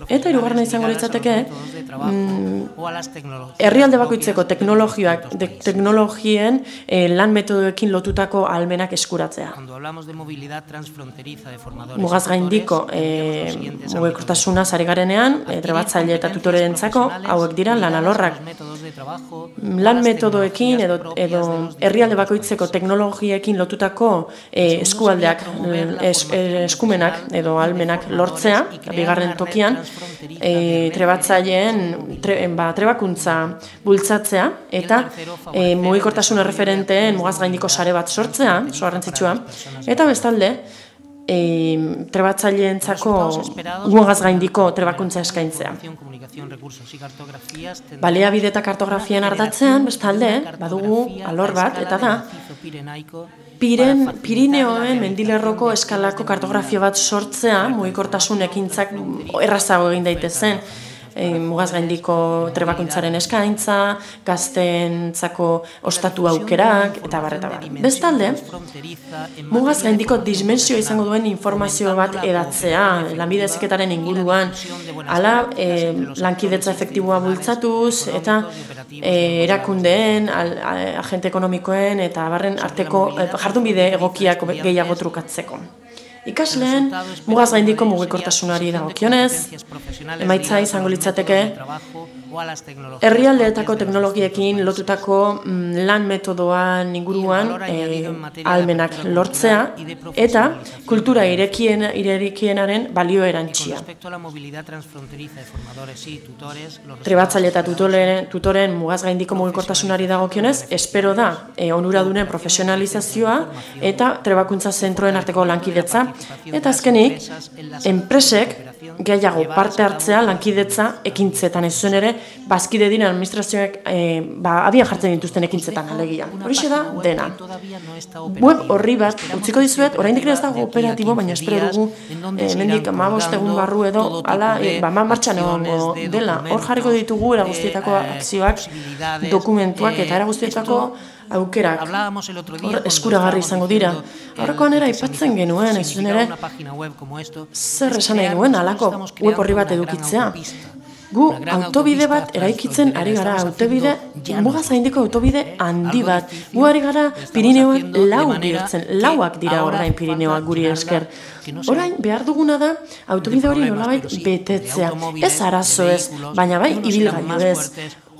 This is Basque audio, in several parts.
Eta hirugarrena izango litzateke herrialde bakoitzeko teknologien lan metodoekin lotutako ahalmenak eskuratzea. Mugaz gaindiko mugikortasuna ari garenean, trebatzaile eta tutoreentzako hauek dira lan alorrak. Lan metodoekin edo herrialde bakoitzeko teknologiekin lotutako eskualdeak, eskumenak edo ahalmenak lortzea, bigarren tokian, trebakuntza bultzatzea eta mugikortasun erreferenteen mugaz gaindiko sare bat sortzea, oso garrantzitsua, eta bestalde, trebatzaileentzako mugaz gaindiko trebakuntza eskaintzea. Baliabide eta kartografien ardatzean, bestalde, badugu alor bat, eta da, Pirineoen mendilerroko eskalako kartografia bat sortzea, mugikortasun ekintzak errazago egin daitezen, mugaz gaindiko trebakuntzaren eskaintza, gazteentzako ostatu aukerak, eta bar. Bestalde, mugaz gaindiko dismensioa izango duen informazio bat edatzea, lanbide heziketaren inguruan, hala lankidetza efektiboa bultzatuz, eta erakundeen, agente ekonomikoen, eta barren arteko jardunbide egokiak gehiago trukatzeko. Ikasleen, mugaz gaindiko mugikortasunari dagokionez, emaitza izango litzateke, herrialdeetako teknologiekin lotutako lan metodoan inguruan ahalmenak lortzea eta kultura irekienaren balio erantsia. Trebatzaile eta tutoren mugaz gaindiko mugikortasunari dagokionez, espero da onuradunen profesionalizazioa eta trebakuntza zentroen arteko lankidetza. Eta azkenik, enpresek gehiago parte hartzea lankidetza ekintzetan, ez zuen ere, bazkide diren administrazioek abian jartzen dituzten ekintzetan alegia. Horixe da, dena. Web horri bat, utziko dizuet, oraindik ez dago operatibo, baina espero dugu, mendik 15 egun barru edo, martxan egongo dela. Hor jarriko ditugu era guztietako akzioak, dokumentuak eta era guztietako aukerak, hor eskuragarri izango dira. Aurrekoan era aipatzen genuen, ez zuen ere, zer esan nahi duen alako web horri bat edukitzea. Gu autobide bat eraikitzen ari gara, mugaz gaindiko autobide handi bat. Gu ari gara Pirineoak lauak dira orain Pirineoak guri esker. Orain behar duguna da autobide hori nolabait betetzea. Ez arazo ez, baina bai ibilgailu ez.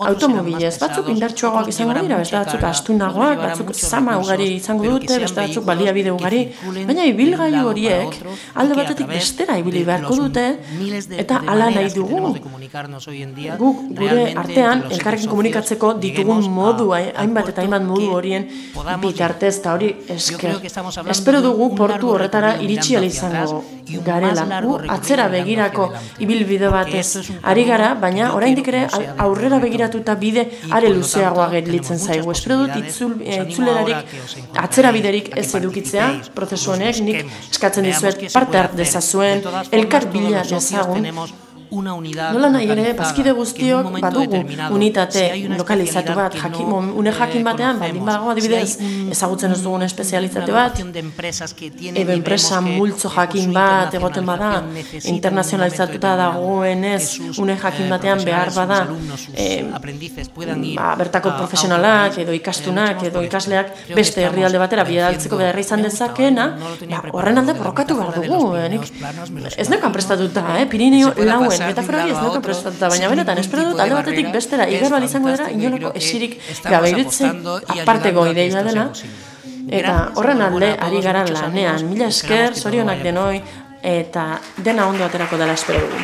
Automobilez, batzuk indartsuagoak izango dira, beste batzuk astunagoak, batzuk zama ugari izango dute, beste batzuk baliabide ugari, baina ibilgailu horiek alde batetik bestera ibili beharko dute, eta hala nahi dugu. Guk gure artean elkarrekin komunikatzeko ditugun modu, hainbat eta hainbat modu horien bitartez, eta hori esker. Espero dugu portu horretara iritsi ahal izango garela. Gu atzera begirako ibilbide batez ari gara, baina oraindik ere aurrera begiratuta bide are luzeagoa gelditzen zaigu. Espero dut itzulerarik atzera biderik ez edukitzea, prozesu honek, nik eskatzen dizuet parte hart dezazuen, elkar bila dezagun. Nola nahi ere, bazkide guztiok badugu unitate lokalizatu bat, une jakin batean, baldin badago adibidez, ezagutzen ez dugun espezialitate bat, edo enpresa multzo jakin bat egoten bada, internazionalizatuta dagoenez, une jakin batean behar bada, bertako profesionalak, edo ikastunak, edo ikasleak beste herrialde batera bidaltzeko beharra izan dezakeena, horren alde borrokatu behar dugu. Ez nekan prestatuta, Pirineo lauen, metafora hori ez nekan prestatuta, baina benetan, espero dut alde batetik bestera igarbal izango dira, inolako esirik gabe irutzen aparteko ideia dela, eta horren alde ari gara lanean. Mila esker, zorionak denoi, eta dena ondo aterako dela espero dugu.